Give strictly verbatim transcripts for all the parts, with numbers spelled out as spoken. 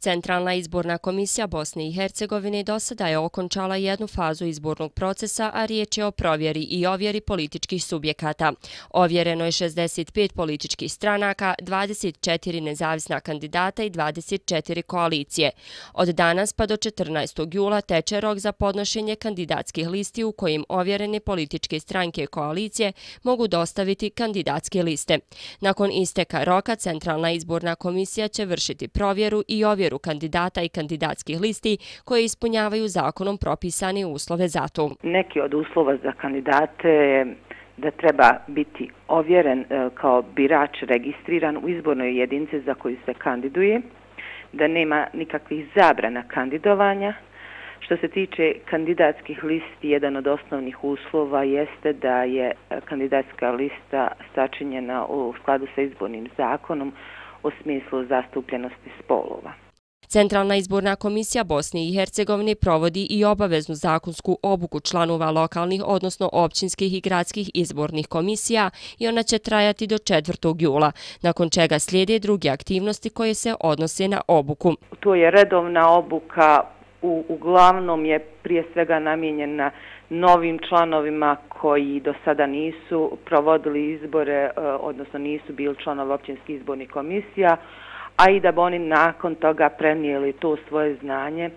Centralna izborna komisija Bosne i Hercegovine do sada je okončala jednu fazu izbornog procesa, a riječ je o provjeri i ovjeri političkih subjekata. Ovjereno je šezdeset pet političkih stranaka, dvadeset četiri nezavisna kandidata i dvadeset četiri koalicije. Od danas pa do četrnaestog jula teče rok za podnošenje kandidatskih listi u kojim ovjerene političke stranke i koalicije mogu dostaviti kandidatske liste. Nakon isteka roka, Centralna izborna komisija će vršiti provjeru i ovjeru kandidata i kandidatskih listi koje ispunjavaju zakonom propisane uslove za to. Neki od uslova za kandidate je da treba biti ovjeren kao birač registriran u izbornoj jedinici za koju se kandiduje, da nema nikakvih zabrana kandidovanja. Što se tiče kandidatskih listi, jedan od osnovnih uslova jeste da je kandidatska lista sačinjena u skladu sa izbornim zakonom u smislu zastupljenosti spolova. Centralna izborna komisija Bosne i Hercegovine provodi i obaveznu zakonsku obuku članova lokalnih, odnosno općinskih i gradskih izbornih komisija i ona će trajati do četvrtog jula, nakon čega slijede druge aktivnosti koje se odnose na obuku. To je redovna obuka, u, uglavnom je prije svega namijenjena novim članovima koji do sada nisu provodili izbore, odnosno nisu bili članovi općinskih izbornih komisija, a i da bi oni nakon toga prenijeli to svoje znanje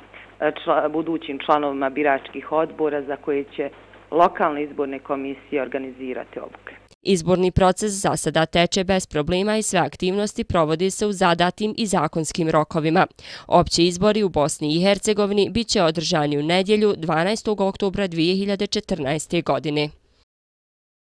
čla, budućim članovima biračkih odbora za koje će lokalne izborne komisije organizirati obuke. Izborni proces za sada teče bez problema i sve aktivnosti provode se u zadatim i zakonskim rokovima. Opći izbori u Bosni i Hercegovini bit će održani u nedjelju dvanaestog oktobra dvije hiljade četrnaeste. godine.